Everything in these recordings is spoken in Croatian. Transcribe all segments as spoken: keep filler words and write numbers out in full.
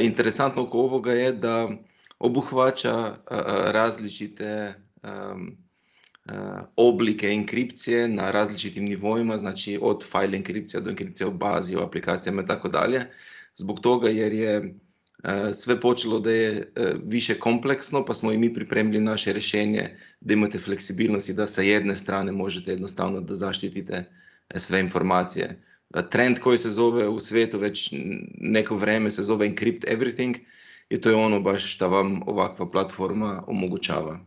Interesantno oko ovoga je da obuhvaća različite oblike enkripcije na različitim nivoima, znači od file enkripcija do enkripcija u bazi, u aplikacijama i tako dalje. Zbog toga jer je sve počelo da je više kompleksno, pa smo i mi pripremili naše rješenje da imate fleksibilnost i da sa jedne strane možete jednostavno da zaštitite sve informacije. Trend koji se zove u svijetu već neko vrijeme se zove Encrypt Everything i to je ono baš što vam ovakva platforma omogućava.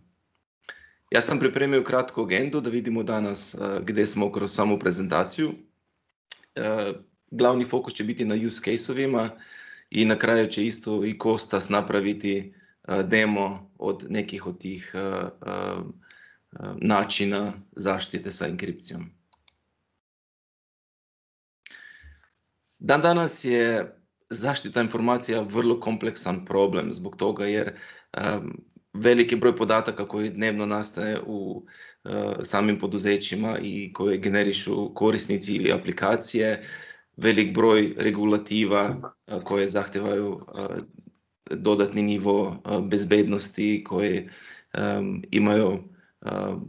Ja sam pripremio kratku agendu da vidimo danas gdje smo kroz samu prezentaciju. Glavni fokus će biti na use case-ovima i na kraju će isto i Kostas napraviti demo od nekih od tih načina zaštite sa enkripcijom. Dan danas je zaštita informacija vrlo kompleksan problem zbog toga jer um, veliki broj podataka koji dnevno nastaje u uh, samim poduzećima i koje generišu korisnici ili aplikacije, velik broj regulativa uh, koje zahtevaju uh, dodatni nivo uh, bezbednosti, koje um, imaju uh, uh,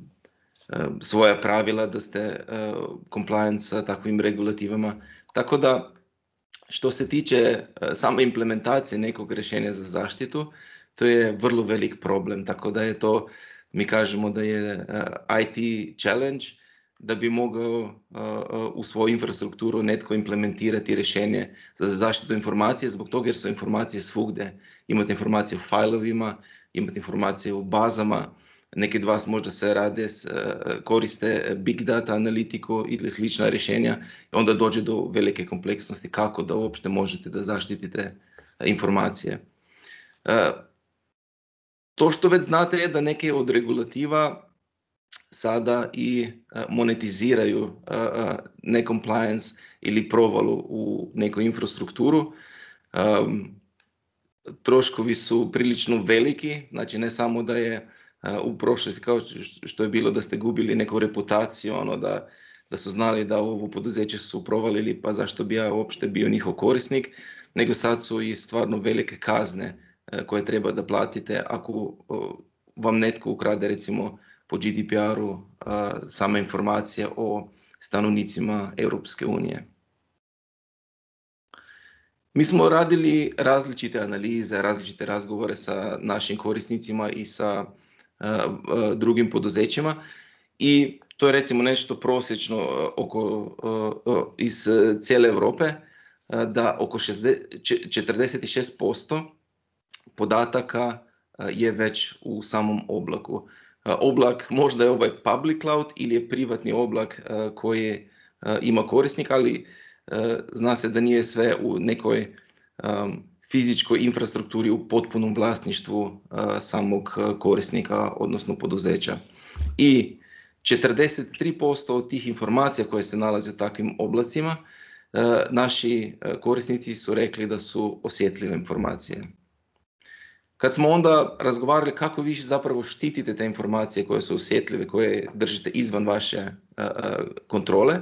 svoja pravila da ste uh, compliant sa takvim regulativama. Tako da što se tiče same implementacije nekog rješenja za zaštitu, to je vrlo velik problem, tako da je to, mi kažemo da je I T challenge, da bi mogao u svoju infrastrukturu netko implementirati rješenje za zaštitu informacije, zbog toga jer su informacije svugdje. Imate informacije u failovima, imate informacije u bazama, neki od vas možda se rade, koriste big data analitiku ili slična rješenja i onda dođe do velike kompleksnosti kako da uopšte možete da zaštitite informacije. To što već znate je da neke od regulativa sada i monetiziraju necompliance ili provalu u neku infrastrukturu. Troškovi su prilično veliki, znači ne samo da je u prošlosti kao što je bilo da ste gubili neku reputaciju, ono da, da su znali da ovo poduzeće su provalili, pa zašto bi ja uopšte bio njihov korisnik, nego sad su i stvarno velike kazne koje treba da platite ako vam netko ukrade recimo po G D P R-u sama informacija o stanovnicima Europske unije. Mi smo radili različite analize, različite razgovore sa našim korisnicima i sa drugim poduzećima i to je recimo nešto prosječno oko, iz cijele Europe, da oko četrdeset šest posto podataka je već u samom oblaku. Oblak možda je ovaj public cloud ili je privatni oblak koji ima korisnik, ali zna se da nije sve u nekoj fizičkoj infrastrukturi u potpunom vlasništvu uh, samog korisnika, odnosno poduzeća. I četrdeset tri posto od tih informacija koje se nalaze u takvim oblacima, uh, naši korisnici su rekli da su osjetljive informacije. Kad smo onda razgovarali kako vi zapravo štitite te informacije koje su osjetljive, koje držite izvan vaše uh, kontrole,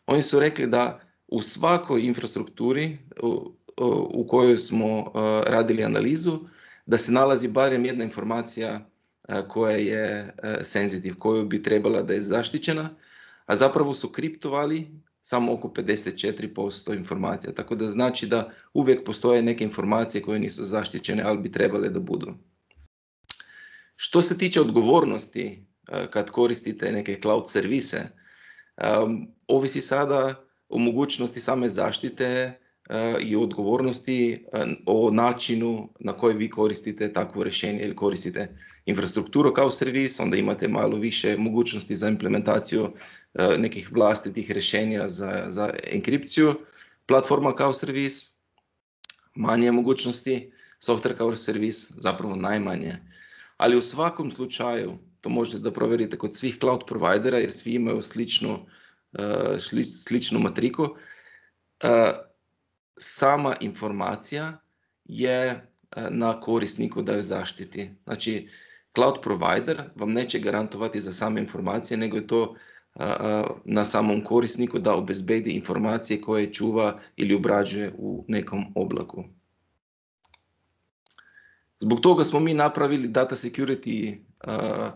oni su rekli da u svakoj infrastrukturi u, u kojoj smo uh, radili analizu, da se nalazi barem jedna informacija uh, koja je uh, sensitive, koju bi trebala da je zaštićena, a zapravo su kriptovali samo oko pedeset četiri posto informacija. Tako da znači da uvijek postoje neke informacije koje nisu zaštićene, ali bi trebale da budu. Što se tiče odgovornosti uh, kad koristite neke cloud servise, um, ovisi sada o mogućnosti same zaštite i odgovornosti o načinu na koji vi koristite takvo rješenje ili koristite infrastrukturu kao servis, onda imate malo više mogućnosti za implementaciju nekih vlastitih rješenja za, za enkripciju, platforma kao servis, manje mogućnosti, software kao servis, zapravo najmanje. Ali u svakom slučaju, to možete da provjerite kod svih cloud providera jer svi imaju sličnu, sličnu matriku, sama informacija je na korisniku da ju zaštiti. Znači, cloud provider vam neće garantovati za same informacije, nego je to na samom korisniku da obezbedi informacije koje čuva ili obrađuje u nekom oblaku. Zbog toga smo mi napravili Data Security, uh,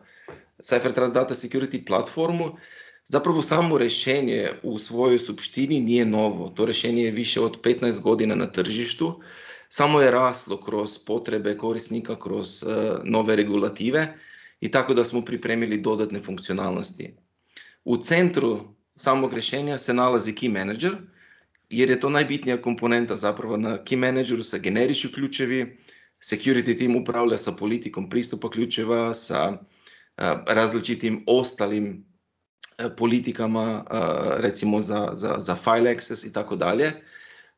CipherTrust Data Security platformu. Zapravo samo rješenje u svojoj suštini nije novo. To rješenje je više od petnaest godina na tržištu. Samo je raslo kroz potrebe korisnika, kroz uh, nove regulative i tako da smo pripremili dodatne funkcionalnosti. U centru samog rješenja se nalazi Key Manager, jer je to najbitnija komponenta. Zapravo na Key Manageru se generišu ključevi, security team upravlja sa politikom pristupa ključeva, sa uh, različitim ostalim uh, politikama, uh, recimo za, za, za file access i tako dalje.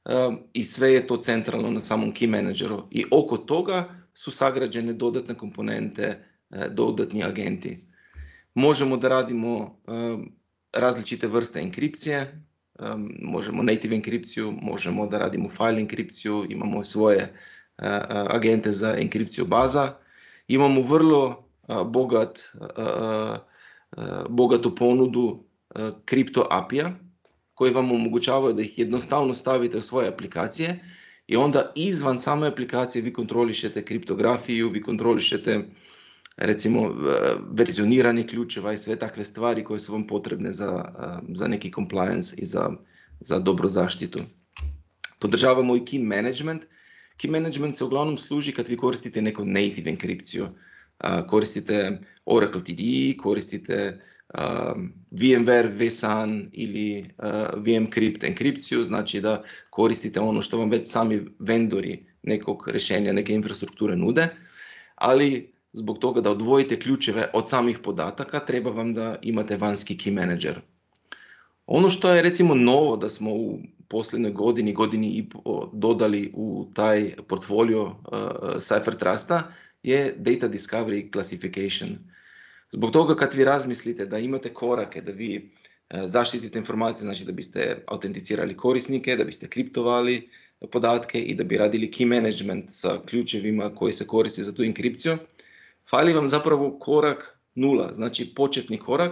Uh, I sve je to centralno na samom Key Manageru. I oko toga su sagrađene dodatne komponente, uh, dodatni agenti. Možemo da radimo uh, različite vrste enkripcije, um, možemo native enkripciju, možemo da radimo file enkripciju, imamo svoje uh, agente za enkripciju baza, imamo vrlo uh, bogat, uh, uh, bogatu ponudu uh, kripto A P I-a koji vam omogućavaju da ih jednostavno stavite u svoje aplikacije i onda izvan same aplikacije vi kontrolišete kriptografiju, vi kontrolišete recimo verzioniranje ključeva i sve takve stvari koje su vam potrebne za, za neki compliance i za, za dobru zaštitu. Podržavamo i key management. Key management se uglavnom služi kad vi koristite neku native enkripciju. Koristite Oracle T D, koristite um, VMware vSAN ili uh, VMcrypt enkripciju, znači da koristite ono što vam već sami vendori nekog rješenja, neke infrastrukture nude, ali zbog toga da odvojite ključeve od samih podataka, treba vam da imate vanjski key manager. Ono što je recimo novo da smo u posljednjoj godini, godini i po dodali u taj portfolio uh, CipherTrusta je Data Discovery Classification. Zbog toga kad vi razmislite da imate korake, da vi uh, zaštitite informacije, znači da biste autenticirali korisnike, da biste kriptovali podatke i da bi radili key management sa ključevima koji se koriste za tu enkripciju, fali vam zapravo korak nula, znači početni korak,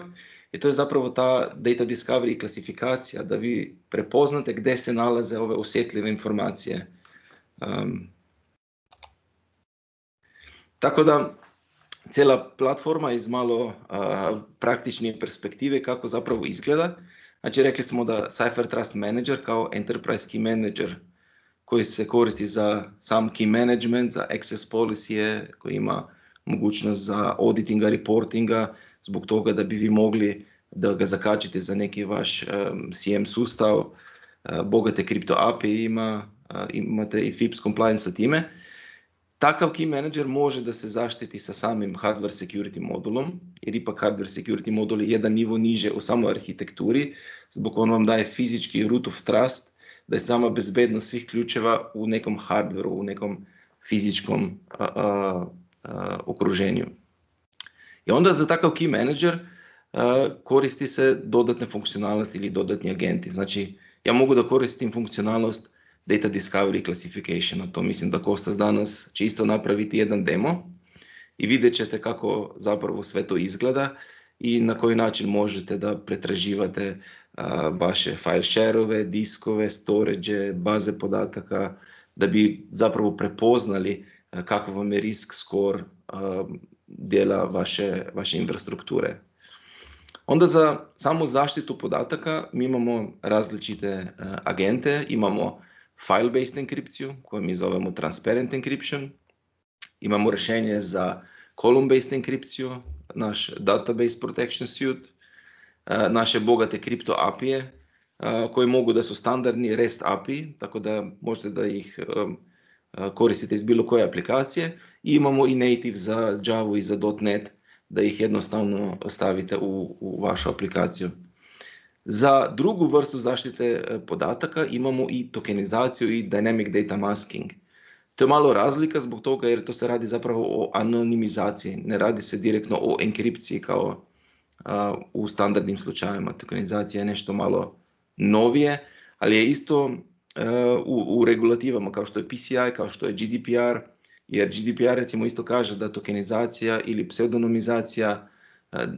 i to je zapravo ta data discovery klasifikacija, da vi prepoznate gdje se nalaze ove osjetljive informacije. Um, tako da cijela platforma iz malo uh, praktičnije perspektive kako zapravo izgleda. Znači rekli smo da CipherTrust Manager kao Enterprise Key Manager koji se koristi za sam key management, za access policy, koji ima mogućnost za auditinga, reportinga, zbog toga da bi vi mogli da ga zakačite za neki vaš um, C M sustav, uh, bogate kripto A P I ima, uh, imate i F I P S compliance sa time. Takav key manager može da se zaštiti sa samim hardware security modulom, jer ipak hardware security modul je jedan nivo niže u samoj arhitekturi, zbog on vam daje fizički root of trust, da je sama bezbednost svih ključeva u nekom hardwareu, u nekom fizičkom uh, uh, Uh, okruženju. I onda za takav key manager uh, koristi se dodatne funkcionalnosti ili dodatni agenti. Znači, ja mogu da koristim funkcionalnost Data Discovery Classification, a to mislim da Kostas danas će isto napraviti jedan demo i vidjet ćete kako zapravo sve to izgleda i na koji način možete da pretraživate uh, vaše file share-ove, diskove, storage, baze podataka, da bi zapravo prepoznali kakav vam je risk score uh, dijela vaše, vaše infrastrukture. Onda za samu zaštitu podataka mi imamo različite uh, agente, imamo file-based enkripciju koju mi zovemo transparent encryption, imamo rješenje za column-based enkripciju, naš database protection suite, uh, naše bogate kripto A P I-e uh, koji mogu da su standardni REST A P I, tako da možete da ih um, koristite iz bilo koje aplikacije, i imamo i native za Java i za .NET da ih jednostavno stavite u, u vašu aplikaciju. Za drugu vrstu zaštite podataka imamo i tokenizaciju i dynamic data masking. To je malo razlika zbog toga jer to se radi zapravo o anonimizaciji, ne radi se direktno o enkripciji kao uh, u standardnim slučajevima. Tokenizacija je nešto malo novije, ali je isto U, u regulativama kao što je P C I, kao što je G D P R, jer G D P R recimo isto kaže da tokenizacija ili pseudonimizacija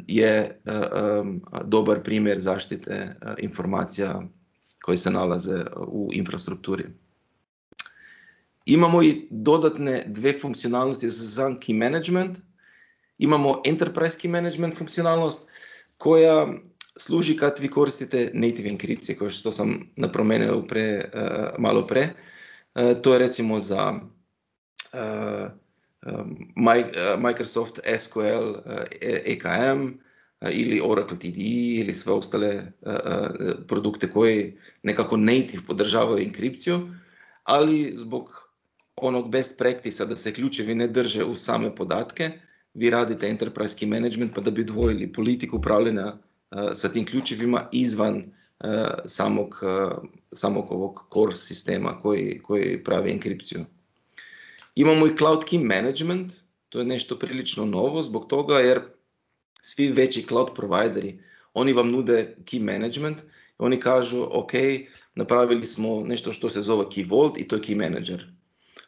je um, dobar primjer zaštite uh, informacija koje se nalaze u infrastrukturi. Imamo i dodatne dve funkcionalnosti za sam key management. Imamo enterprise key management funkcionalnost koja služi kad vi koristite native enkripcije, kao što sam napomenuo pre, uh, malo pre. Uh, to je recimo za uh, um, Microsoft S Q L uh, E K M uh, ili Oracle T D E ili sve ostale uh, uh, produkte koji nekako native podržavaju enkripciju, ali zbog onog best practice-a da se ključevi ne drže u same podatke, vi radite enterprise key management pa da bi odvojili politiku upravljanja uh, sa tim ključevima izvan uh, samog, uh, samog ovog core sistema koji, koji pravi enkripciju. Imamo i cloud key management, to je nešto prilično novo zbog toga jer svi veći cloud provideri, oni vam nude key management, oni kažu ok, napravili smo nešto što se zove Key Vault i to je key manager.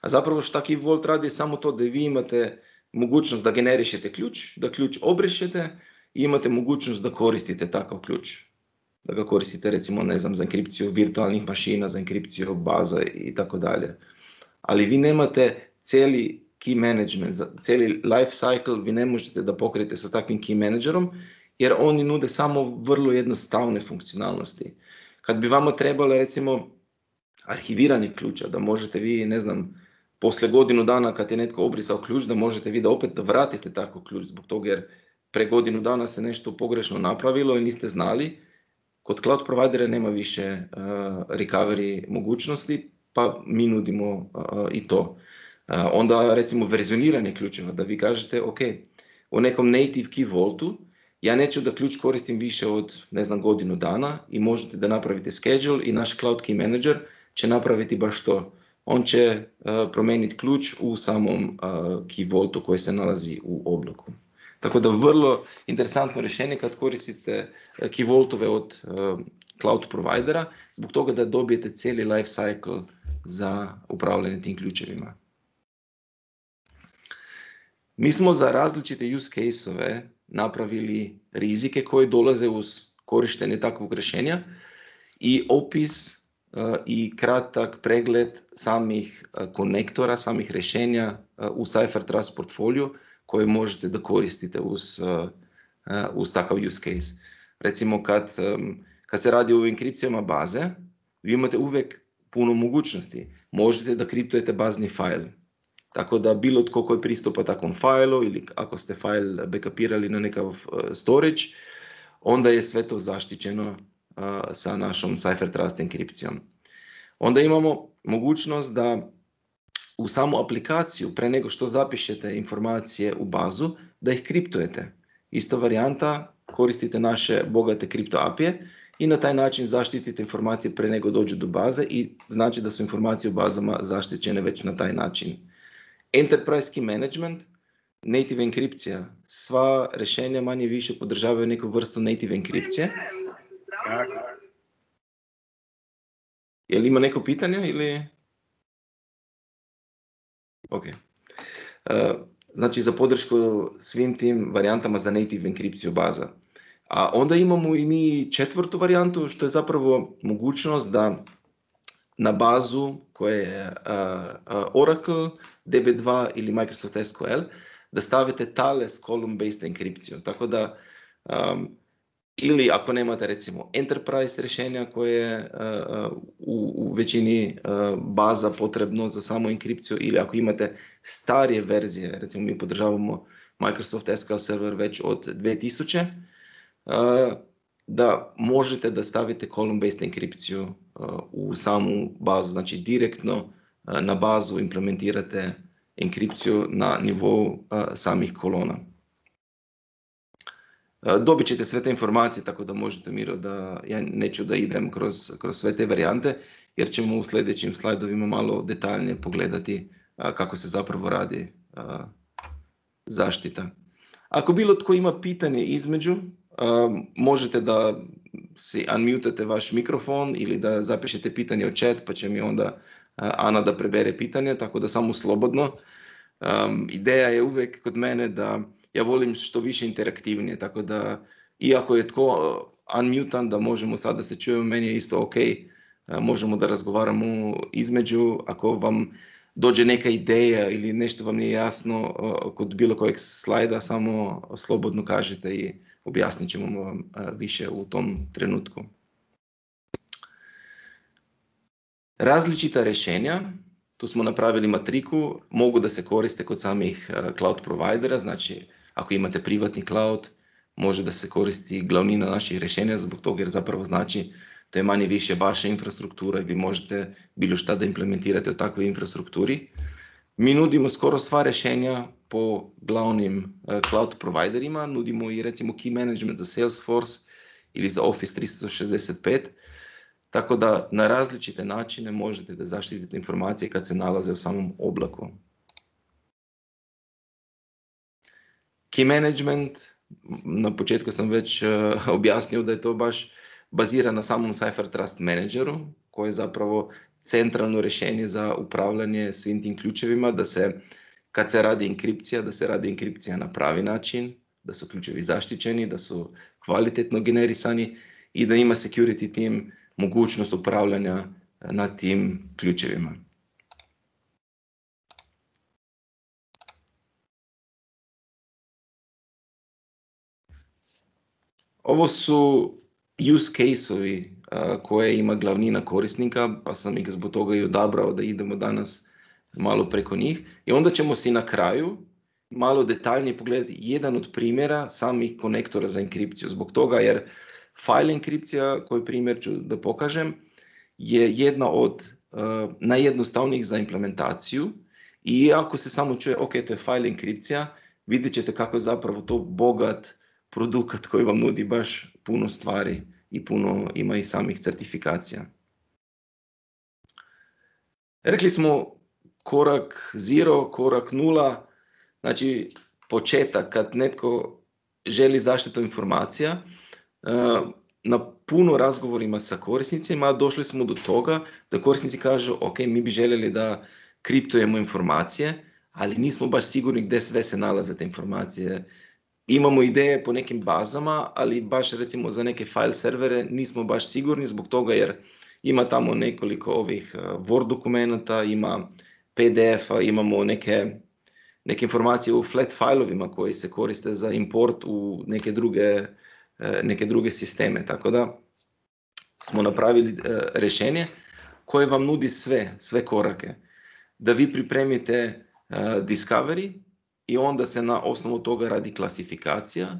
A zapravo šta Key Vault radi je samo to da vi imate mogućnost da generišete ključ, da ključ obrišete i imate mogućnost da koristite takav ključ. Da ga koristite recimo ne znam, za enkripciju virtualnih mašina, za enkripciju baza i tako dalje. Ali vi nemate cijeli key management, cijeli life cycle vi ne možete da pokrijete sa takvim key managerom jer oni nude samo vrlo jednostavne funkcionalnosti. Kad bi vama trebalo recimo arhiviranje ključa, da možete vi, ne znam, poslije godinu dana kad je netko obrisao ključ, da možete vi da opet da vratite tako ključ zbog toga jer pre godinu dana se nešto pogrešno napravilo i niste znali. Kod cloud providera nema više uh, recovery mogućnosti, pa mi nudimo uh, i to. Uh, onda recimo verzioniranje ključeva, da vi kažete ok, u nekom native key vaultu ja neću da ključ koristim više od ne znam godinu dana i možete da napravite schedule i naš cloud key manager će napraviti baš to. On će uh, promijeniti ključ u samom uh, key vaultu koji se nalazi u oblaku. Tako da vrlo interesantno rješenje kad koristite uh, key vaultove od uh, cloud providera, zbog toga da dobijete cijeli life cycle za upravljanje tim ključevima. Mi smo za različite use case-ove napravili rizike koji dolaze uz korištenje takvog rješenja i opis uh, i kratak pregled samih uh, konektora, samih rješenja uh, u CipherTrust portfoliju koje možete da koristite uz, uh, uh, uz takav use case. Recimo kad, um, kad se radi o enkripcijama baze, vi imate uvijek puno mogućnosti. Možete da kriptujete bazni fajl. Tako da bilo tko koji pristupa takvom fajlu ili ako ste fajl backupirali na nekav uh, storage, onda je sve to zaštićeno uh, sa našom CipherTrust enkripcijom. Onda imamo mogućnost da u samu aplikaciju, pre nego što zapišete informacije u bazu, da ih kriptujete. Ista varijanta, koristite naše bogate kripto apije i na taj način zaštitite informacije pre nego dođu do baze i znači da su informacije u bazama zaštićene već na taj način. Enterprise key management, native enkripcija. Sva rješenja manje više podržavaju neku vrstu native enkripcije. Je li ima neko pitanje ili? Ok. Uh, znači za podršku svim tim varijantama za native enkripciju baza. A onda imamo i mi četvrtu varijantu, što je zapravo mogućnost da na bazu koje je uh, uh, Oracle, D B dva ili Microsoft S Q L, da stavite Thales column-based enkripciju. Tako da, um, ili ako nemate recimo enterprise rješenja koje je uh, u, u većini uh, baza potrebno za samu enkripciju, ili ako imate starije verzije, recimo mi podržavamo Microsoft S Q L Server već od dvije tisuće, uh, da možete da stavite column-based enkripciju uh, u samu bazu, znači direktno uh, na bazu implementirate enkripciju na nivou uh, samih kolona. Uh, dobit ćete sve te informacije, tako da možete Miro da, ja neću da idem kroz, kroz sve te varijante, jer ćemo u sljedećim slajdovima malo detaljnije pogledati uh, kako se zapravo radi uh, zaštita. Ako bilo tko ima pitanje između, Uh, možete da si unmutate vaš mikrofon ili da zapišete pitanje u chat, pa će mi onda uh, Ana da prebere pitanje, tako da samo slobodno. Um, ideja je uvijek kod mene da ja volim što više interaktivnije, tako da iako je tko uh, unmutan, da možemo sad da se čujemo, meni je isto ok, uh, možemo da razgovaramo između. Ako vam dođe neka ideja ili nešto vam nije jasno kod bilo kojeg slajda, samo slobodno kažete i objasnit ćemo vam više u tom trenutku. Različita rješenja, tu smo napravili matriku, mogu da se koriste kod samih cloud providera, znači ako imate privatni cloud, može da se koristi glavnina naših rješenja zbog toga jer zapravo znači to je manje više vaša infrastruktura i vi možete bilo šta da implementirate u takvoj infrastrukturi. Mi nudimo skoro sva rješenja po glavnim cloud providerima, nudimo i recimo key management za Salesforce ili za Office tristo šezdeset pet, tako da na različite načine možete da zaštitite informacije kad se nalaze u samom oblaku. Key management, na početku sam već objasnio da je to baš bazira na samom Cypher Trust Manageru, koji je zapravo centralno rješenje za upravljanje svim tim ključevima, da se, kad se radi enkripcija, da se radi enkripcija na pravi način, da su ključevi zaštićeni, da su kvalitetno generisani i da ima security team mogućnost upravljanja nad tim ključevima. Ovo su use case-ovi koje ima glavnina korisnika, pa sam ih zbog toga i odabrao da idemo danas malo preko njih. I onda ćemo si na kraju malo detaljnije pogledati jedan od primjera samih konektora za enkripciju. Zbog toga jer file enkripcija, koji primjer ću da pokažem, je jedna od uh, najjednostavnijih za implementaciju i ako se samo čuje, ok, to je file enkripcija, vidjet ćete kako je zapravo to bogat produkt koji vam nudi baš puno stvari i puno ima i samih certifikacija. Rekli smo korak zero, korak nula, znači početak kad netko želi zaštitu informacija. Na puno razgovorima sa korisnicima došli smo do toga da korisnici kažu ok, mi bi željeli da kriptujemo informacije, ali nismo baš sigurni gdje sve se nalaze te informacije. Imamo ideje po nekim bazama, ali baš recimo za neke file servere nismo baš sigurni zbog toga jer ima tamo nekoliko ovih Word dokumenta, ima P D F-a, imamo neke, neke informacije u flat fileovima koji se koriste za import u neke druge, neke druge sisteme. Tako da smo napravili rješenje koje vam nudi sve, sve korake. Da vi pripremite discovery, i onda se na osnovu toga radi klasifikacija.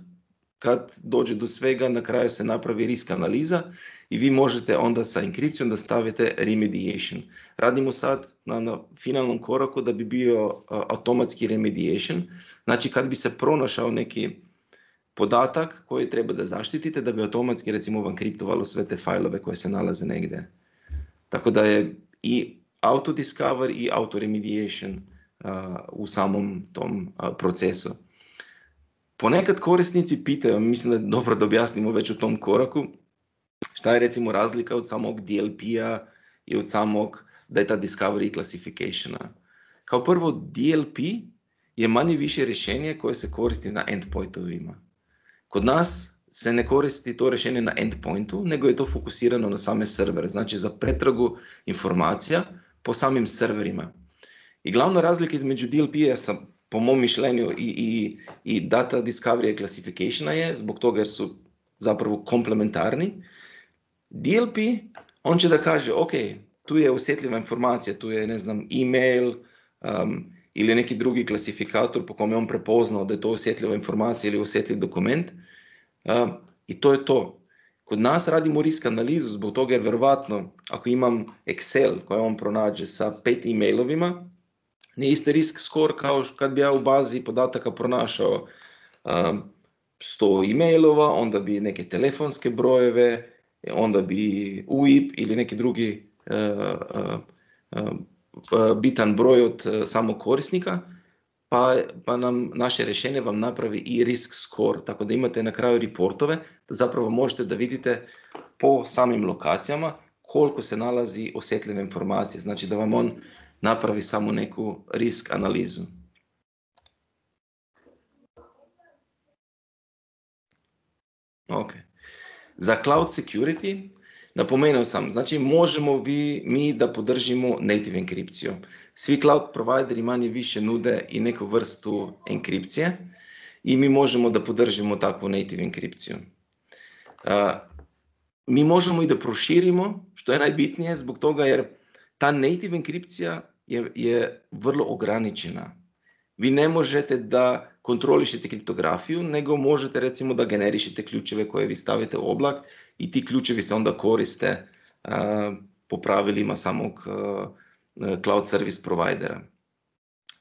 Kad dođe do svega, na kraju se napravi risk analiza i vi možete onda sa enkripcijom da stavite remediation. Radimo sad na, na finalnom koraku da bi bio uh, automatski remediation. Znači kad bi se pronašao neki podatak koji treba da zaštitite, da bi automatski recimo vam kriptovalo sve te fajlove koje se nalaze negdje. Tako da je i auto discover i auto remediation Uh, u samom tom uh, procesu. Ponekad korisnici pitaju, mislim da je dobro da objasnimo već u tom koraku, šta je recimo razlika od samog D L P-a i od samog data discovery classificationa. Kao prvo, D L P je manje više rješenje koje se koristi na endpointovima. Kod nas se ne koristi to rješenje na endpointu, nego je to fokusirano na same servere, znači za pretragu informacija po samim serverima. I glavna razlika između D L P-a, po mom mišljenju, i, i, i data discovery i classificationa je, zbog toga jer su zapravo komplementarni. D L P, on će da kaže, ok, tu je osjetljiva informacija, tu je, ne znam, e-mail um, ili neki drugi klasifikator po kome on prepoznao da je to osjetljiva informacija ili osjetljiv dokument. Um, I to je to. Kod nas radimo risk analizu zbog toga jer verovatno ako imam Excel koji on pronađe sa pet e-mailovima, nije isti risk score kao kad bi ja u bazi podataka pronašao um, sto e-mailova, onda bi neke telefonske brojeve, onda bi U I P ili neki drugi uh, uh, uh, bitan broj od uh, samog korisnika, pa, pa nam naše rješenje vam napravi i risk score, tako da imate na kraju reportove, da zapravo možete da vidite po samim lokacijama koliko se nalazi osjetljive informacije, znači da vam on napravi samo neku risk analizu. Ok. Za cloud security Napomenuo sam, znači možemo vi, mi da podržimo native enkripciju. Svi cloud provideri manje više nude i neku vrstu enkripcije i mi možemo da podržimo takvu native enkripciju. Uh, mi možemo i da proširimo, što je najbitnije zbog toga jer ta native enkripcija je, je vrlo ograničena. Vi ne možete da kontrolišete kriptografiju, nego možete recimo da generišete ključeve koje vi stavite u oblak i ti ključevi se onda koriste uh, po pravilima samog uh, cloud service providera.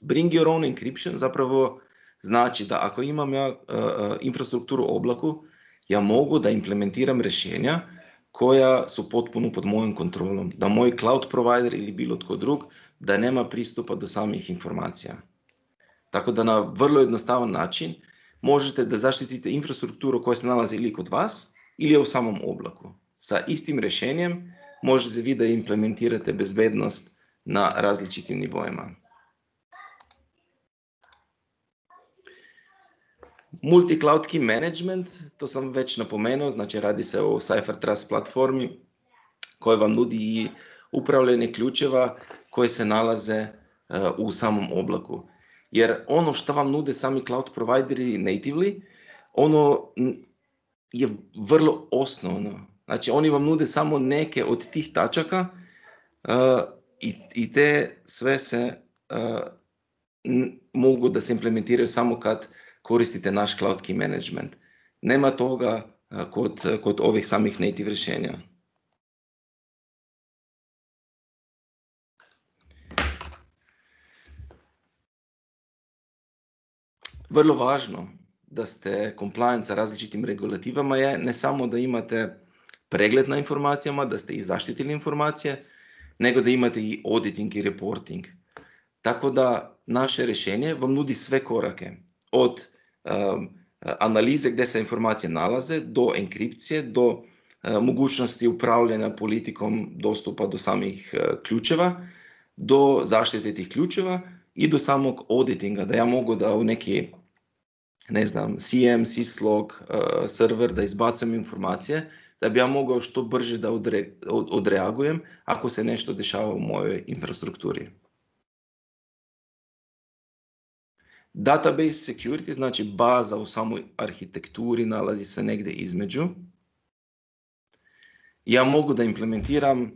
Bring your own encryption zapravo znači da ako imam ja uh, infrastrukturu u oblaku, ja mogu da implementiram rješenja koja su potpuno pod mojom kontrolom, da moj cloud provider ili bilo tko drug da nema pristupa do samih informacija. Tako da na vrlo jednostavan način možete da zaštitite infrastrukturu koja se nalazi ili kod vas ili u samom oblaku. Sa istim rješenjem možete vi da implementirate bezbednost na različitim nivoima. Multi-cloud key management, to sam već napomenuo, znači radi se o CipherTrust platformi koja vam nudi i upravljanje ključeva koje se nalaze uh, u samom oblaku. Jer ono što vam nude sami cloud provideri natively, ono je vrlo osnovno. Znači oni vam nude samo neke od tih tačaka uh, i, i te sve se uh, n- mogu da se implementiraju samo kad koristite naš cloud key management. Nema toga uh, kod, kod ovih samih native rješenja. Vrlo važno da ste compliant sa različitim regulativama je ne samo da imate pregled na informacijama, da ste i zaštitili informacije, nego da imate i auditing i reporting. Tako da naše rješenje vam nudi sve korake, od um, analize gdje se informacije nalaze, do enkripcije, do uh, mogućnosti upravljanja politikom dostupa do samih uh, ključeva, do zaštite tih ključeva i do samog auditinga, da ja mogu da u neki ne znam, C M, syslog, uh, server, da izbacujem informacije, da bi ja mogao što brže da odre, od, odreagujem ako se nešto dešava u mojoj infrastrukturi. Database security, znači baza u samoj arhitekturi nalazi se negdje između. Ja mogu da implementiram uh,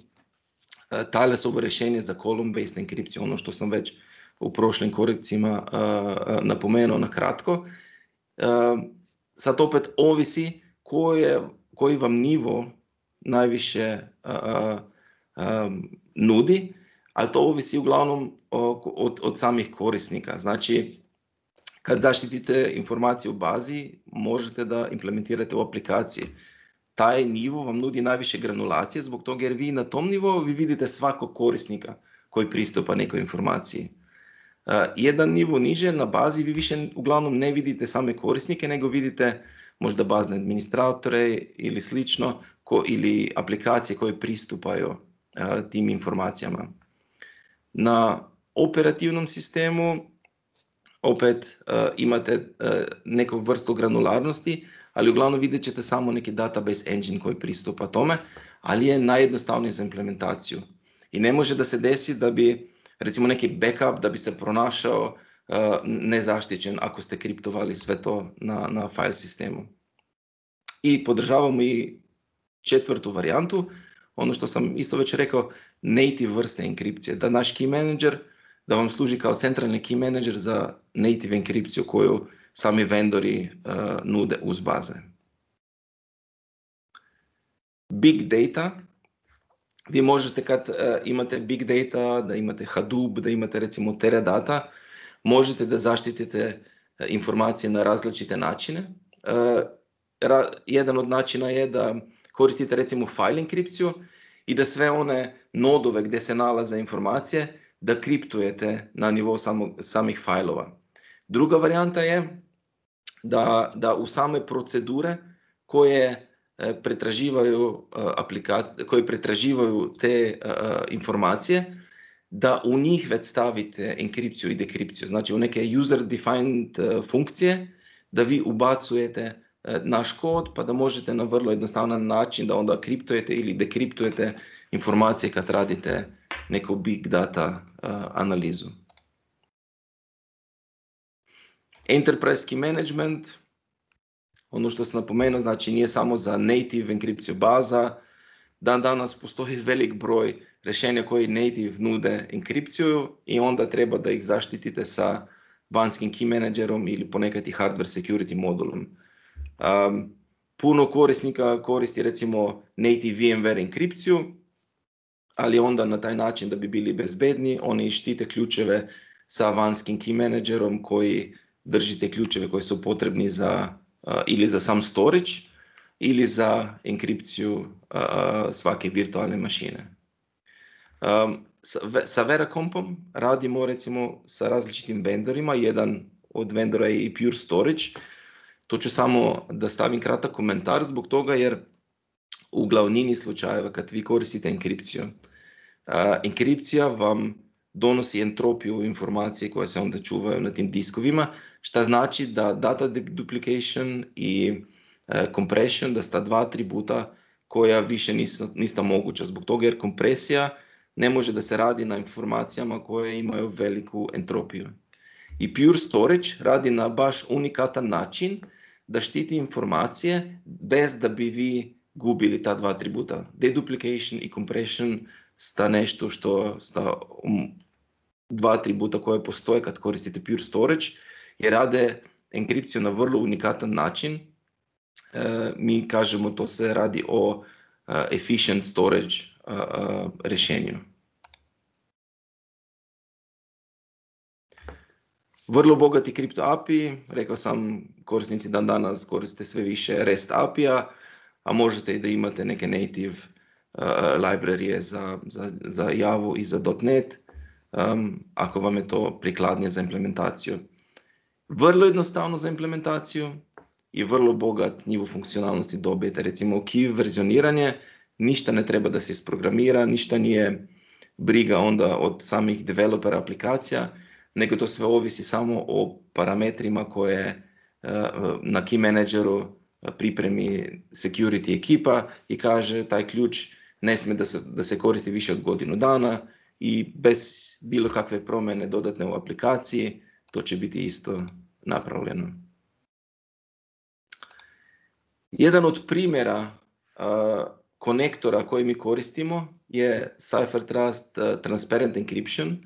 Thalesovo rješenje za column-based enkripciju, ono što sam već u prošlim korekcijama uh, napomenuo na kratko. Uh, sad opet ovisi koje, koji vam nivo najviše uh, um, nudi, ali to ovisi uglavnom od, od samih korisnika. Znači, kad zaštitite informacije u bazi, možete da implementirate u aplikaciji. Taj nivo vam nudi najviše granulacije, zbog toga jer vi na tom nivou vi vidite svakog korisnika koji pristupa nekoj informaciji. Uh, jedan nivo niže na bazi vi više uglavnom ne vidite same korisnike, nego vidite možda bazne administratore ili slično, ko, ili aplikacije koje pristupaju uh, tim informacijama. Na operativnom sistemu opet uh, imate uh, neku vrstu granularnosti, ali uglavnom vidjet ćete samo neki database engine koji pristupa tome, ali je najjednostavniji za implementaciju. I ne može da se desi da bi recimo neki backup da bi se pronašao uh, nezaštićen ako ste kriptovali sve to na, na file sistemu. I podržavamo i četvrtu varijantu, ono što sam isto već rekao, native vrste enkripcije, da naš key manager da vam služi kao centralni key manager za native enkripciju koju sami vendori uh, nude uz baze. Big data. Vi možete kad uh, imate big data, da imate Hadoop, da imate recimo Teradata, možete da zaštitite uh, informacije na različite načine. Uh, ra, jedan od načina je da koristite recimo file enkripciju i da sve one nodove gdje se nalaze informacije da kriptujete na nivou samog, samih fajlova. Druga varijanta je da, da u same procedure koje pretraživaju aplikacije, koje pretraživaju te uh, informacije, da u njih već stavite enkripciju i dekripciju. Znači u neke user-defined uh, funkcije da vi ubacujete naš kod, pa da možete na vrlo jednostavan način da onda kriptujete ili dekriptujete informacije kad radite neku big data uh, analizu. Enterprise key management, ono što sam napomenuo, znači nije samo za native enkripciju baza. Dan danas postoji velik broj rješenja koji native nude enkripciju i onda treba da ih zaštitite sa vanjskim key managerom ili ponekad i hardware security modulom. Um, puno korisnika koristi recimo native VMware enkripciju, ali onda na taj način da bi bili bezbedni, oni štite ključeve sa vanjskim key managerom koji drži te ključeve koji su potrebni za uh, ili za sam storage ili za enkripciju uh, svake virtualne mašine. Um, sa, sa Veracompom radimo recimo sa različitim vendorima, jedan od vendora je i Pure Storage. To ću samo da stavim kratak komentar zbog toga jer u glavnini slučajeva kad vi koristite enkripciju, uh, enkripcija vam donosi entropiju informacije koje se onda čuvaju na tim diskovima, što znači da data duplication i uh, compression, da sta dva atributa koja više nisu, nisu moguća zbog toga jer kompresija ne može da se radi na informacijama koje imaju veliku entropiju. I Pure Storage radi na baš unikatan način da štiti informacije bez da bi vi gubili ta dva atributa. Deduplication i compression sta nešto što sta um, dva atributa koje postoje kad koristite Pure Storage i rade enkripciju na vrlo unikatan način. E, mi kažemo to se radi o uh, efficient storage uh, uh, rješenju. Vrlo bogati kripto A P I, rekao sam korisnici dan danas koriste sve više REST A P I-a, a možete i da imate neke native uh, librarije za, za, za Java i za .NET, um, ako vam je to prikladnije za implementaciju. Vrlo jednostavno za implementaciju i vrlo bogat nivo funkcionalnosti dobijete. Recimo key verzioniranje, ništa ne treba da se isprogramira, ništa nije briga onda od samih developera aplikacija, nego to sve ovisi samo o parametrima koje uh, na key manageru pripremi security ekipa i kaže taj ključ ne smije da se, da se koristi više od godinu dana i bez bilo kakve promjene dodatne u aplikaciji to će biti isto napravljeno. Jedan od primjera uh, konektora koji mi koristimo je CipherTrust uh, Transparent Encryption.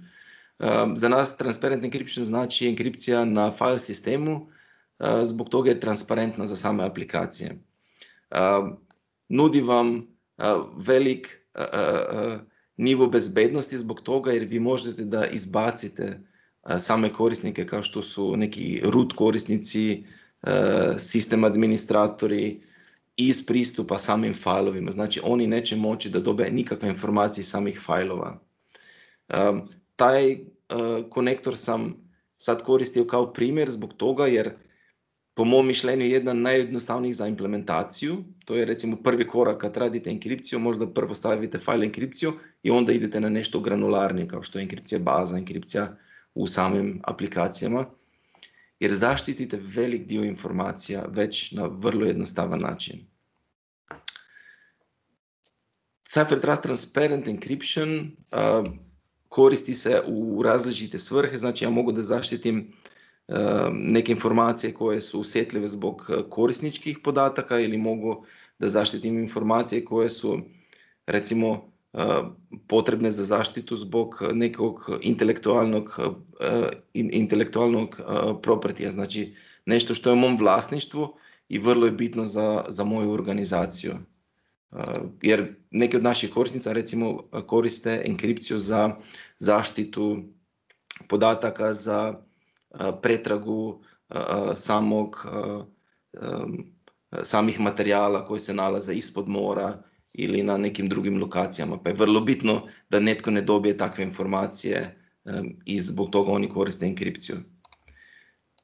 Uh, za nas Transparent Encryption znači enkripcija na file sistemu, uh, zbog toga je transparentna za same aplikacije. Uh, nudi vam uh, velik uh, uh, nivo bezbednosti zbog toga jer vi možete da izbacite uh, same korisnike kao što su neki root korisnici, uh, sistem administratori iz pristupa samim failovima. Znači oni neće moći da dobe nikakve informacije iz samih failova. Um, taj uh, konektor sam sad koristio kao primjer zbog toga jer po mom mišljenju je jedan najjednostavnijih za implementaciju. To je recimo prvi korak kad radite enkripciju, možda prvo stavite file enkripciju i onda idete na nešto granularnije kao što je enkripcija baza, enkripcija u samim aplikacijama. Jer zaštitite velik dio informacija već na vrlo jednostavan način. CipherTrust Transparent Encryption uh, koristi se u različite svrhe, znači ja mogu da zaštitim uh, neke informacije koje su osjetljive zbog korisničkih podataka ili mogu da zaštitim informacije koje su recimo uh, potrebne za zaštitu zbog nekog intelektualnog, uh, in, intelektualnog uh, propertija, znači nešto što je u mom vlasništvu i vrlo je bitno za, za moju organizaciju. Uh, jer neki od naših korisnica recimo koriste enkripciju za zaštitu podataka, za uh, pretragu uh, samog, uh, um, samih materijala koji se nalaze ispod mora ili na nekim drugim lokacijama. Pa je vrlo bitno da netko ne dobije takve informacije um, i zbog toga oni koriste enkripciju.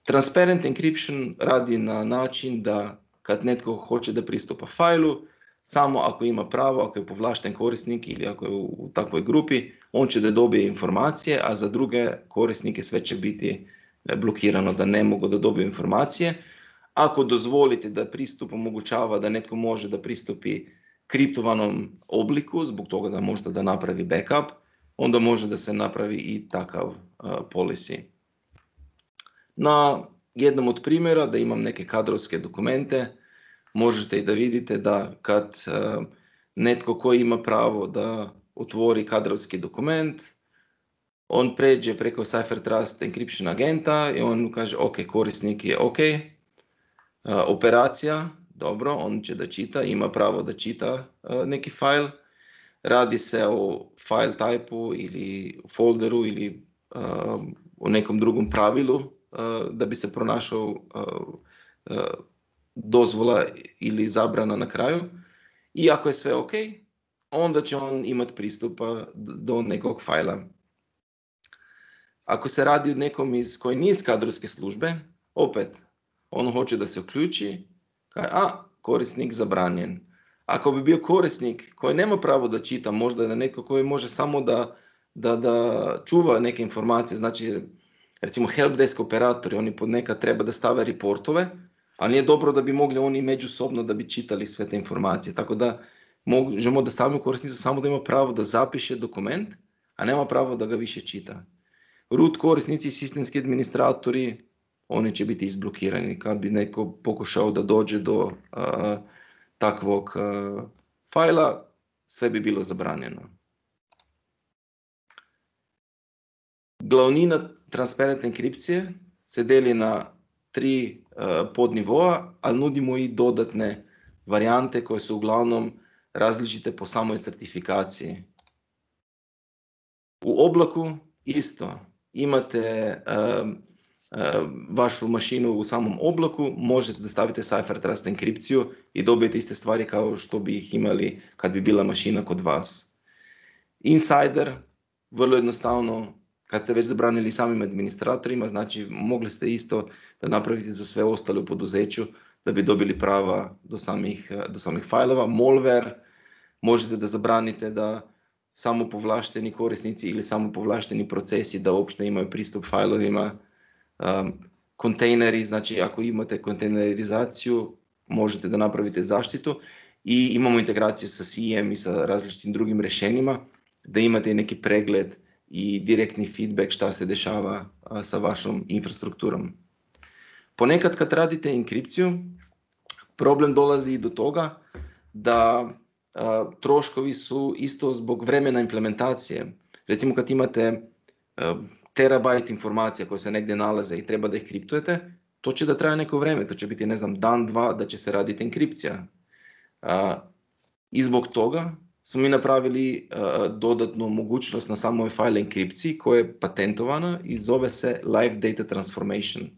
Transparent encryption radi na način da kad netko hoće da pristupa failu, samo ako ima pravo, ako je povlašten korisnik ili ako je u takvoj grupi, on će da dobije informacije, a za druge korisnike sve će biti blokirano da ne mogu da dobiju informacije. ako dozvolite da pristup omogućava da netko može da pristupi kriptovanom obliku, zbog toga da možda da napravi backup, onda može da se napravi i takav uh, policy. Na jednom od primjera da imam neke kadrovske dokumente, možete i da vidite da kad uh, netko koji ima pravo da otvori kadrovski dokument, on pređe preko CipherTrust encryption agenta i on kaže ok, korisnik je ok, uh, operacija, dobro, on će da čita, ima pravo da čita uh, neki file, radi se o file type-u ili folderu ili uh, o nekom drugom pravilu uh, da bi se pronašao uh, uh, dozvola ili zabrana na kraju. I ako je sve ok, onda će on imati pristupa do nekog fajla. Ako se radi o nekom iz koji nije iz kadrovske službe, opet, on hoće da se uključi, kaže, a, korisnik zabranjen. Ako bi bio korisnik koji nema pravo da čita, možda je netko koji može samo da, da, da čuva neke informacije, znači, recimo helpdesk operatori, oni ponekad treba da stave reportove, a nije dobro da bi mogli oni međusobno da bi čitali sve te informacije. Tako da možemo da stavimo korisnicu samo da ima pravo da zapiše dokument, a nema pravo da ga više čita. Root korisnici i sistemski administratori, oni će biti izblokirani kad bi neko pokušao da dođe do uh, takvog uh, fajla, sve bi bilo zabranjeno. Glavnina transparentne enkripcije se deli na tri uh, podnivoa, ali nudimo i dodatne varijante koje su uglavnom različite po samoj certifikaciji. U oblaku isto. Imate uh, uh, vašu mašinu u samom oblaku, možete da stavite CipherTrust enkripciju i dobijete iste stvari kao što bi ih imali kad bi bila mašina kod vas. Insider, vrlo jednostavno, kad ste već zabranili samim administratorima, znači mogli ste isto da napravite za sve ostale u poduzeću da bi dobili prava do samih, do samih fajlova. Malware, možete da zabranite da samo povlašteni korisnici ili samo povlašteni procesi da uopšte imaju pristup fajlovima. Um, kontejneri, znači ako imate kontejnerizaciju, možete da napravite zaštitu i imamo integraciju sa C I E M i sa različitim drugim rješenjima, da imate neki pregled i direktni feedback šta se dešava a, sa vašom infrastrukturom. Ponekad kad radite enkripciju, problem dolazi i do toga da a, troškovi su isto zbog vremena implementacije. Recimo kad imate a, terabajt informacija koje se negdje nalaze i treba da ih kriptujete, to će da traje neko vreme, to će biti ne znam dan, dva da će se raditi enkripcija. A, I zbog toga smo mi napravili uh, dodatnu mogućnost na samoj file enkripciji koja je patentovana i zove se Live Data Transformation.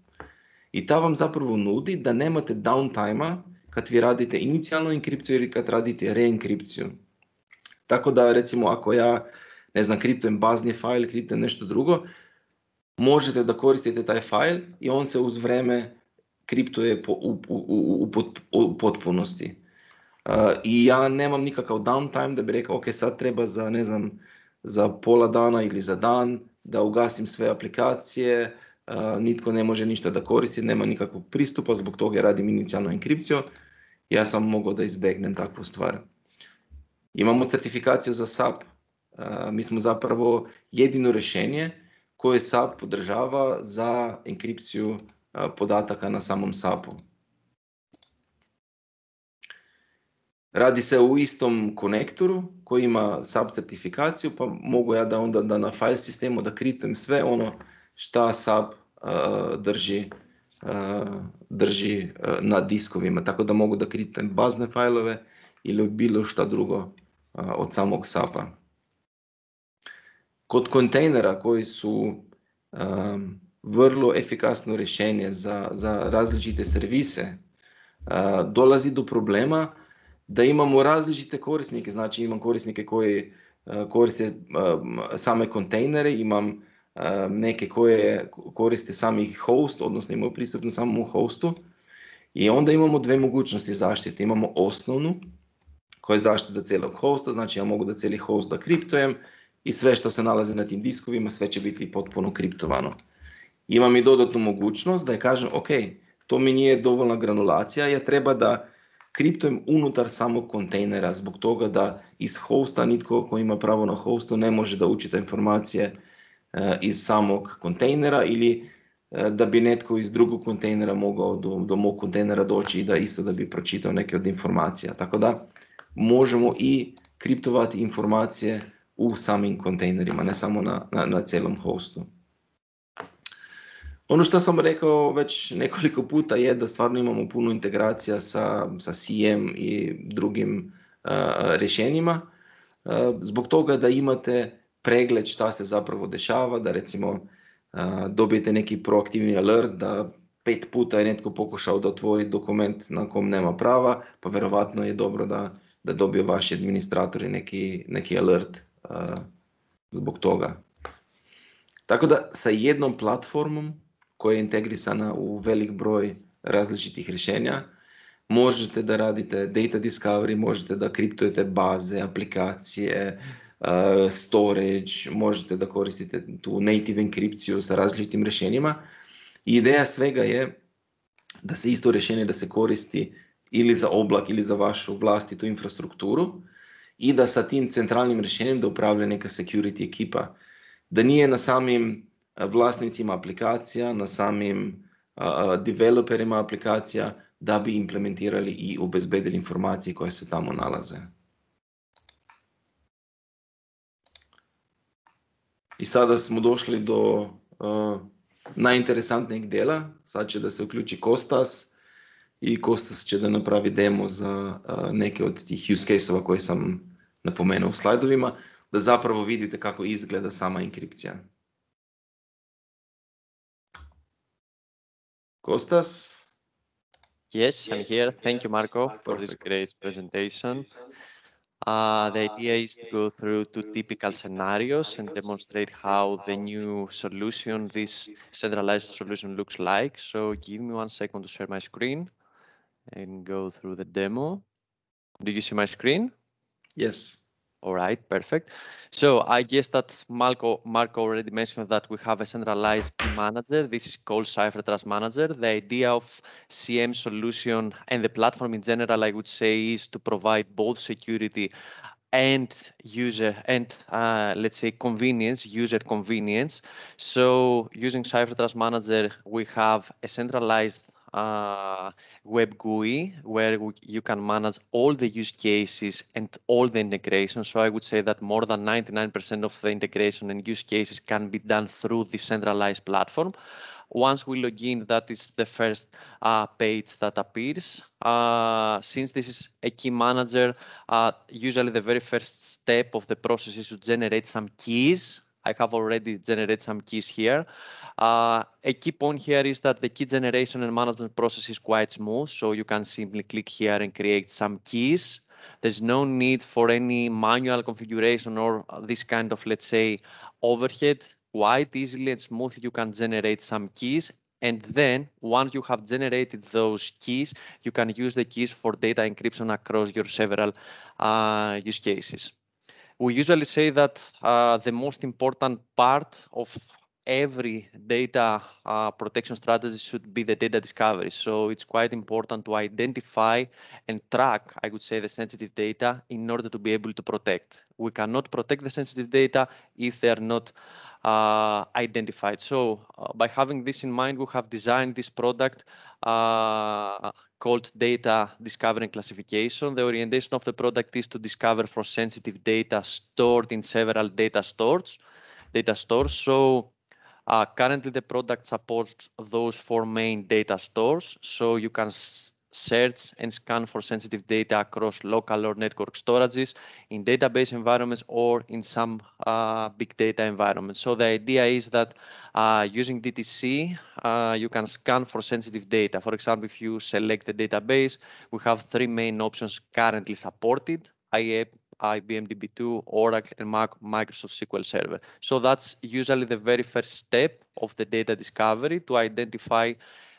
I ta vam zapravo nudi da nemate downtime-a kad vi radite inicijalnu enkripciju ili kad radite reenkripciju. Tako da recimo ako ja ne znam kriptujem bazni file, kriptujem nešto drugo, možete da koristite taj file i on se uz vreme kriptuje po, u, u, u, u, pot, u potpunosti. Uh, I ja nemam nikakav downtime da bi rekao ok, sad treba za ne znam za pola dana ili za dan da ugasim sve aplikacije, uh, nitko ne može ništa da koristi, nema nikakvog pristupa, zbog toga radim inicijalnu enkripciju. Ja sam mogao da izbegnem takvu stvar. Imamo certifikaciju za S A P. Uh, mi smo zapravo jedino rješenje koje S A P podržava za enkripciju uh, podataka na samom S A P-u. Radi se o istom konektoru koji ima S A P certifikaciju, pa mogu ja da onda da na file sistemu da kriptujem sve ono šta S A P uh, drži, uh, drži uh, na diskovima, tako da mogu da kriptujem bazne fajlove ili bilo šta drugo uh, od samog S A P-a. Kod kontejnera koji su um, vrlo efikasno rješenje za, za različite servise, uh, dolazi do problema da imamo različite korisnike, znači imam korisnike koji uh, koriste uh, same kontejnere, imam uh, neke koje koriste sami host, odnosno imaju pristup na samom hostu i onda imamo dve mogućnosti zaštite. Imamo osnovnu koja je zaštita cijelog hosta, znači ja mogu da cijeli host da kriptujem i sve što se nalazi na tim diskovima, sve će biti potpuno kriptovano. Imam i dodatnu mogućnost da je kažem, ok, to mi nije dovoljna granulacija, ja treba da kriptujem unutar samog kontejnera, zbog toga da iz hosta nitko ko ima pravo na hostu ne može da učita informacije uh, iz samog kontejnera, ili uh, da bi netko iz drugog kontejnera mogao do, do mog kontejnera doći i da isto da bi pročitao neke od informacija. Tako da možemo i kriptovati informacije u samim kontejnerima, ne samo na, na, na cijelom hostu. Ono što sam rekao već nekoliko puta je da stvarno imamo puno integracija sa, sa C M i drugim uh, rješenjima, uh, zbog toga da imate pregled šta se zapravo dešava, da recimo uh, dobijete neki proaktivni alert da pet puta je netko pokušao da otvori dokument na kom nema prava, pa verovatno je dobro da, da dobiju vaši administratori neki, neki alert uh, zbog toga. Tako da sa jednom platformom koja je integrisana u velik broj različitih rješenja, možete da radite data discovery, možete da kriptujete baze, aplikacije, uh, storage, možete da koristite tu native enkripciju sa različitim rješenjima. I ideja svega je da se isto rješenje da se koristi ili za oblak ili za vašu vlastitu infrastrukturu i da sa tim centralnim rješenjem da upravlja neka security ekipa. Da nije na samim vlasnicima aplikacija, na samim uh, developerima aplikacija da bi implementirali i obezbedili informacije koje se tamo nalaze. I sada smo došli do uh, najinteresantnijeg dela. Sad će da se uključi Kostas i Kostas će da napravi demo za uh, neke od tih use case-ova koje sam napomenuo u slajdovima, da zapravo vidite kako izgleda sama enkripcija. Kostas? Yes, I'm here. Thank you, Marco, for this great presentation. Uh, the idea is to go through two typical scenarios and demonstrate how the new solution, this centralized solution, looks like. So give me one second to share my screen and go through the demo. Do you see my screen? Yes. All right, perfect. So I guess that Marco, Marco already mentioned that we have a centralized key manager. This is called CipherTrust Manager. The idea of C M solution and the platform in general, I would say, is to provide both security and user and uh, let's say convenience, user convenience. So using CipherTrust Manager, we have a centralized uh, web G U I where we, you can manage all the use cases and all the integration. So I would say that more than ninety-nine percent of the integration and use cases can be done through the centralized platform. Once we log in, that is the first uh, page that appears. Uh, since this is a key manager, uh, usually the very first step of the process is to generate some keys. I have already generated some keys here. Uh, a key point here is that the key generation and management process is quite smooth, so you can simply click here and create some keys. There's no need for any manual configuration or this kind of, let's say, overhead. Quite easily and smoothly you can generate some keys, and then once you have generated those keys, you can use the keys for data encryption across your several uh, use cases. We usually say that uh, the most important part of every data uh, protection strategy should be the data discovery. So it's quite important to identify and track, I would say, the sensitive data in order to be able to protect. We cannot protect the sensitive data if they are not uh, identified. So uh, by having this in mind, we have designed this product uh, called Data Discovery and Classification. The orientation of the product is to discover for sensitive data stored in several data stores. Data stores. So uh, currently the product supports those four main data stores. So you can search and scan for sensitive data across local or network storages, in database environments, or in some uh, big data environments. So the idea is that uh, using D T C, uh, you can scan for sensitive data. For example, if you select the database, we have three main options currently supported: I B M D B two, Oracle, and Microsoft S Q L Server. So that's usually the very first step of the data discovery, to identify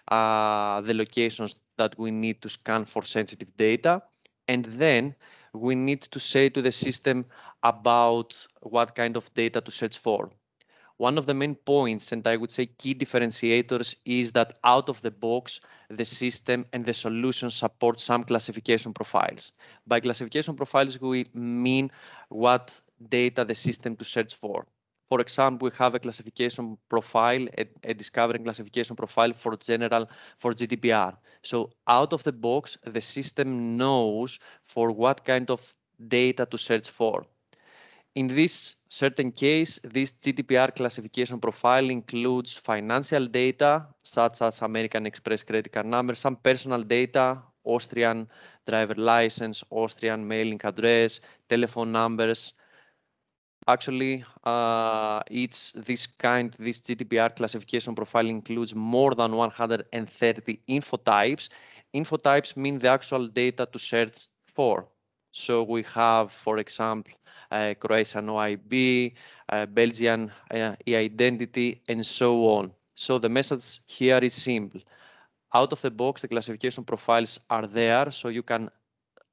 uh, the locations that we need to scan for sensitive data. And then we need to say to the system about what kind of data to search for. one of the main points, and I would say key differentiators, is that out of the box, the system and the solution support some classification profiles. By classification profiles, we mean what data the system to search for. For example, we have a classification profile, a, a discovery and classification profile for general, for G D P R. So out of the box, the system knows for what kind of data to search for. In this certain case, this G D P R classification profile includes financial data, such as American Express credit card number, some personal data, Austrian driver license, Austrian mailing address, telephone numbers. Actually, uh, it's this kind, this G D P R classification profile includes more than one hundred thirty info types. Info types mean the actual data to search for. So we have, for example, uh, Croatian O I B, uh, Belgian uh, e-identity, and so on. So the message here is simple. Out of the box, the classification profiles are there, so you can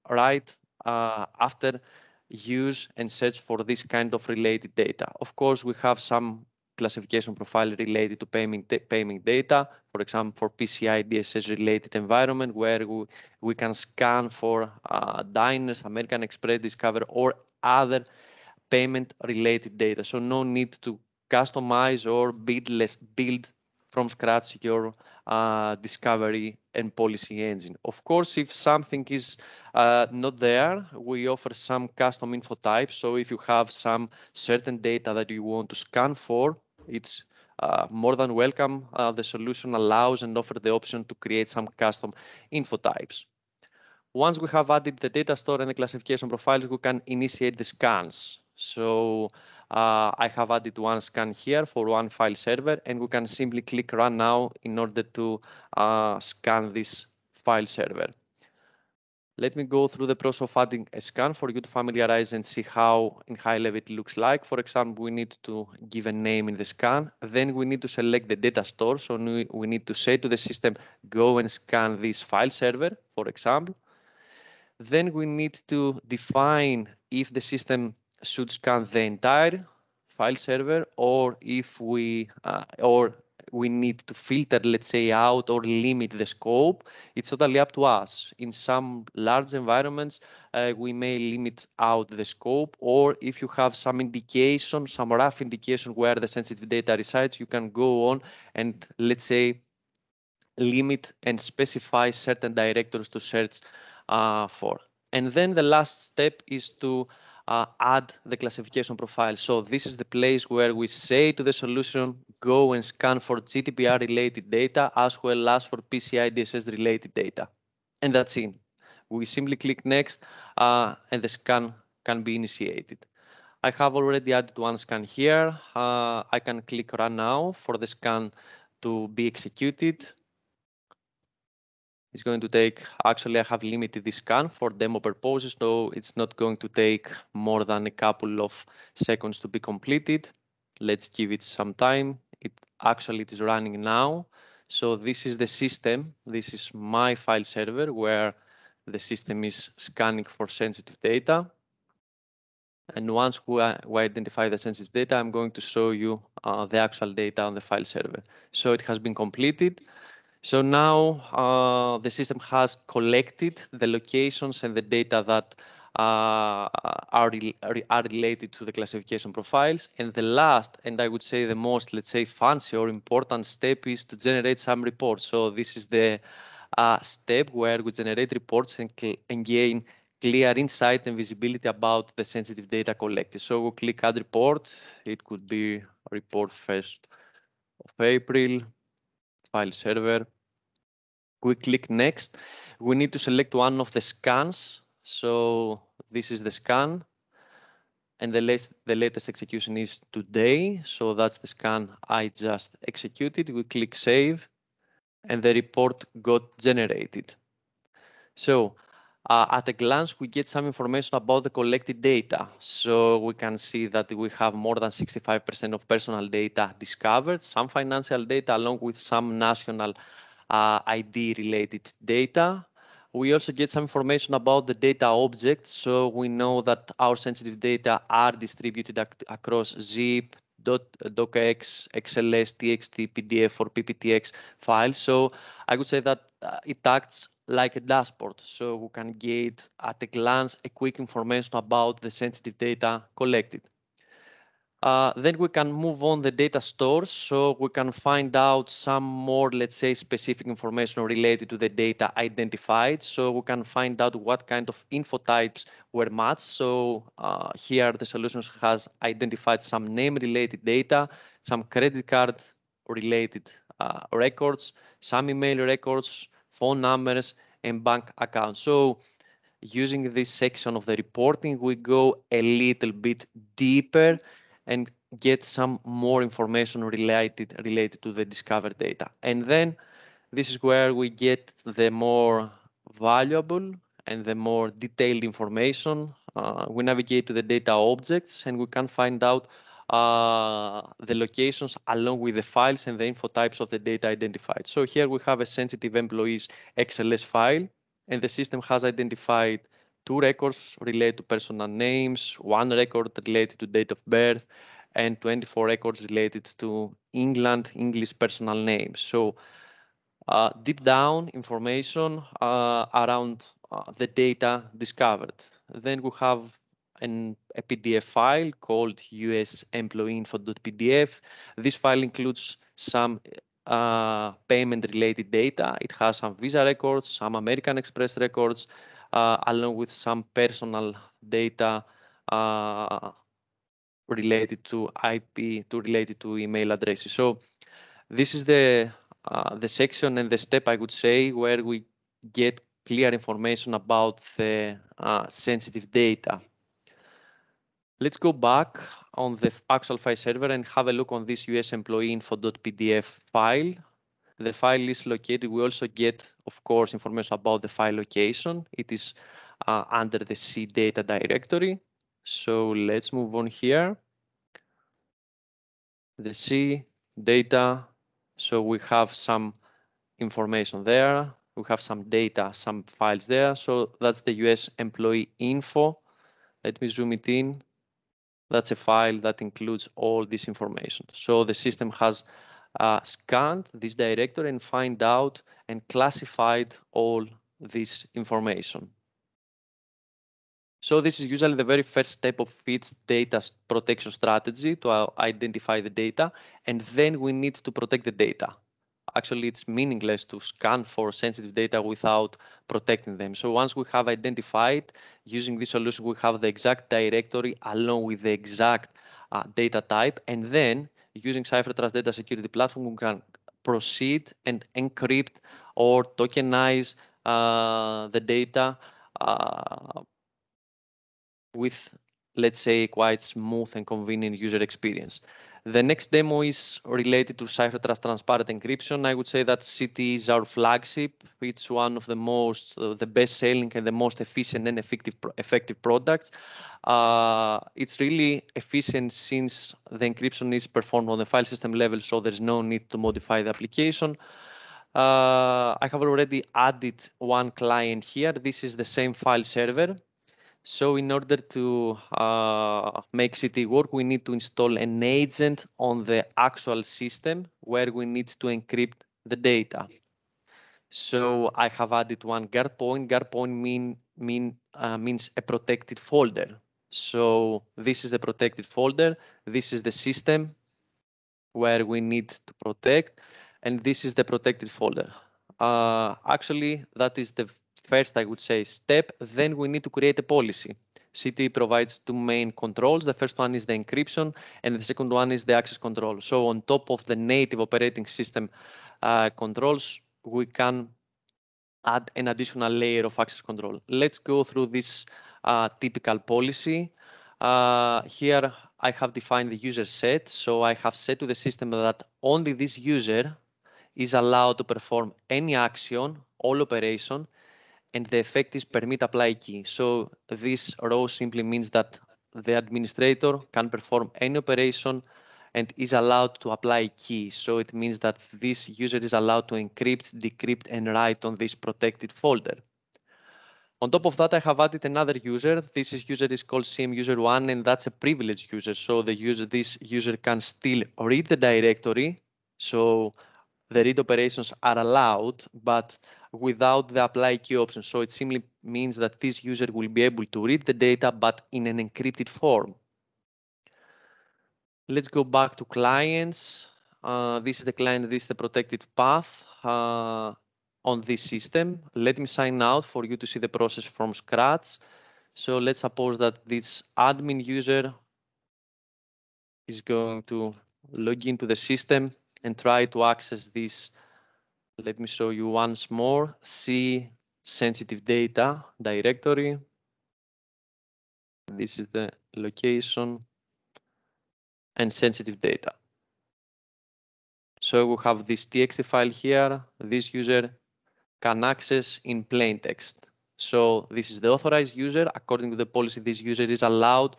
write uh, after use and search for this kind of related data. Of course, we have some classification profile related to payment, payment data, for example, for P C I D S S related environment, where we, we can scan for uh, diners, American Express, Discover, or other payment related data. So no need to customize or build, less, build from scratch your uh, discovery and policy engine. Of course, if something is uh, not there, we offer some custom info types. So if you have some certain data that you want to scan for, it's uh, more than welcome. Uh, the solution allows and offers the option to create some custom info types. Once we have added the data store and the classification profiles, we can initiate the scans. So uh, I have added one scan here for one file server, and we can simply click Run Now in order to uh, scan this file server. Let me go through the process of adding a scan for you to familiarize and see how in high level it looks like. For example, we need to give a name in the scan. Then we need to select the data store. So we, we need to say to the system, go and scan this file server, for example. Then we need to define if the system should scan the entire file server, or if we uh, or we need to filter, let's say, out or limit the scope. It's totally up to us. In some large environments, uh, we may limit out the scope, or if you have some indication, some rough indication where the sensitive data resides, you can go on and, let's say, limit and specify certain directories to search uh, for. And then the last step is to uh, add the classification profile. So this is the place where we say to the solution, go and scan for G D P R related data as well as for P C I D S S related data. And that's it. We simply click next uh, and the scan can be initiated. I have already added one scan here. Uh, I can click Run Now for the scan to be executed. It's going to take, actually I have limited this scan for demo purposes, so it's not going to take more than a couple of seconds to be completed. Let's give it some time. It actually it is running now. So this is the system. This is my file server where the system is scanning for sensitive data. And once we, we identify the sensitive data, I'm going to show you uh, the actual data on the file server. So it has been completed. So now uh, the system has collected the locations and the data that uh, are, re are related to the classification profiles. And the last, and I would say the most, let's say, fancy or important step is to generate some reports. So this is the uh, step where we generate reports and, and gain clear insight and visibility about the sensitive data collected. So we'll click Add Report. It could be report first of April. File server. We click next. We need to select one of the scans. So this is the scan. And the latest, the latest execution is today. So that's the scan I just executed. We click Save. And the report got generated. So uh, at a glance, we get some information about the collected data. So we can see that we have more than sixty-five percent of personal data discovered, some financial data along with some national uh, I D related data. We also get some information about the data objects. So we know that our sensitive data are distributed ac across zip, docx, X L S, T X T, P D F, or P P T X files. So I would say that uh, it acts like a dashboard. So we can get at a glance a quick information about the sensitive data collected. Uh, then we can move on the data stores, so we can find out some more, let's say, specific information related to the data identified. So we can find out what kind of info types were matched. So uh, here the solutions has identified some name-related data, some credit card-related uh, records, some email records, phone numbers, and bank accounts. So using this section of the reporting, we go a little bit deeper and get some more information related related to the discovered data. And then this is where we get the more valuable and the more detailed information. Uh, we navigate to the data objects and we can find out uh, the locations along with the files and the info types of the data identified. So here we have a sensitive employees X L S file, and the system has identified two records related to personal names, one record related to date of birth, and twenty-four records related to England English personal names. So uh, deep down information uh, around uh, the data discovered. Then we have an, a P D F file called U S employee info dot P D F. This file includes some uh, payment related data. It has some Visa records, some American Express records, uh, along with some personal data uh, related to I P, to related to email addresses. So this is the uh, the section and the step, I would say, where we get clear information about the uh, sensitive data. Let's go back on the actual file server and have a look on this U S employee info dot P D F file. The file is located. We also get, of course, information about the file location. It is uh, under the C data directory. So let's move on here. The C data. So we have some information there. We have some data, some files there. So that's the U S employee info. Let me zoom it in. That's a file that includes all this information. So the system has uh, scanned this directory and find out and classified all this information. So this is usually the very first step of its data protection strategy to uh, identify the data, and then we need to protect the data. Actually, it's meaningless to scan for sensitive data without protecting them. So once we have identified, using this solution, we have the exact directory along with the exact uh, data type, and then using CipherTrust Data Security Platform, we can proceed and encrypt or tokenize uh, the data uh, with, let's say, quite smooth and convenient user experience. The next demo is related to CipherTrust Transparent Encryption. I would say that C T is our flagship. It's one of the most, uh, the best-selling and the most efficient and effective, effective products. Uh, it's really efficient since the encryption is performed on the file system level, so there's no need to modify the application. Uh, I have already added one client here. This is the same file server. So in order to uh, make C T work, we need to install an agent on the actual system where we need to encrypt the data. So I have added one guard point. Guard point mean, mean, uh, means a protected folder. So this is the protected folder. This is the system where we need to protect. And this is the protected folder. Uh, actually, that is the first, I would say, step. Then we need to create a policy. C T provides two main controls. The first one is the encryption, and the second one is the access control. So on top of the native operating system uh, controls, we can add an additional layer of access control. Let's go through this uh, typical policy. Uh, here I have defined the user set. So I have said to the system that only this user is allowed to perform any action, all operation, and the effect is permit apply key. So this row simply means that the administrator can perform any operation and is allowed to apply key. So it means that this user is allowed to encrypt, decrypt, and write on this protected folder. On top of that, I have added another user. This is user is called C M user one, and that's a privileged user. So the user, this user can still read the directory. So the read operations are allowed, but without the apply key option. So it simply means that this user will be able to read the data, but in an encrypted form. Let's go back to clients. Uh, this is the client, this is the protected path uh, on this system. Let me sign out for you to see the process from scratch. So let's suppose that this admin user is going to log into the system and try to access this. Let me show you once more. See sensitive data directory. This is the location and sensitive data. So we have this T X T file here. This user can access in plain text. So this is the authorized user. According to the policy, this user is allowed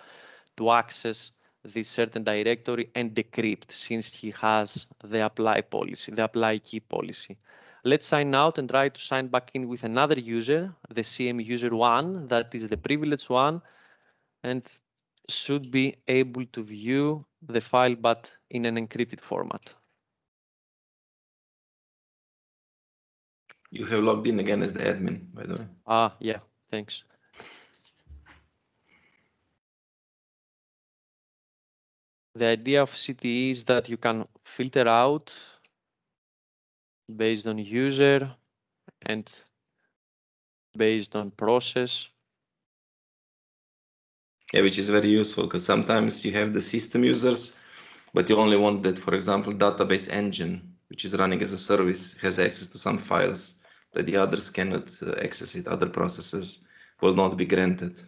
to access this certain directory and decrypt, since he has the apply policy, the apply key policy. Let's sign out and try to sign back in with another user, the C M user one, that is the privileged one, and should be able to view the file, but in an encrypted format. You have logged in again as the admin, by the way. Ah, yeah, thanks. The idea of C T E is that you can filter out based on user and based on process. Yeah, which is very useful because sometimes you have the system users, but you only want that, for example, database engine, which is running as a service, has access to some files that the others cannot uh, access it. Other processes will not be granted.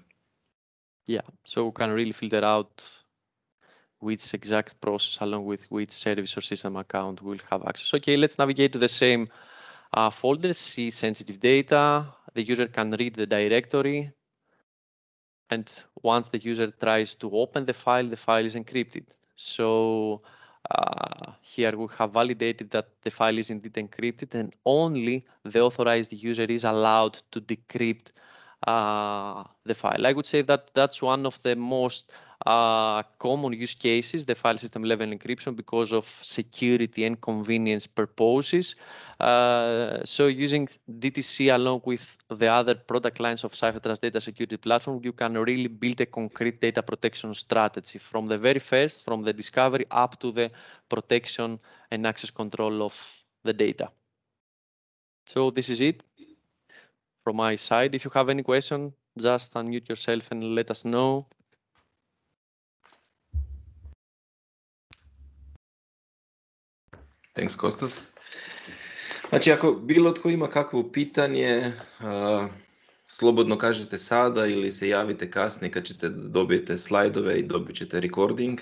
Yeah, so we can really filter out which exact process along with which service or system account will have access. Okay, let's navigate to the same uh, folder, see sensitive data. The user can read the directory. And once the user tries to open the file, the file is encrypted. So uh, here we have validated that the file is indeed encrypted, and only the authorized user is allowed to decrypt uh, the file. I would say that that's one of the most uh, common use cases, the file system level encryption, because of security and convenience purposes. Uh, so using D T C along with the other product lines of CipherTrust Data Security Platform, you can really build a concrete data protection strategy from the very first, from the discovery up to the protection and access control of the data. So this is it from my side. If you have any question, just unmute yourself and let us know. Thanks, Kostas. Znači, ako bilo tko ima kakvo pitanje, uh, slobodno kažete sada ili se javite kasnije kad ćete dobijete slajdove i dobit ćete recording.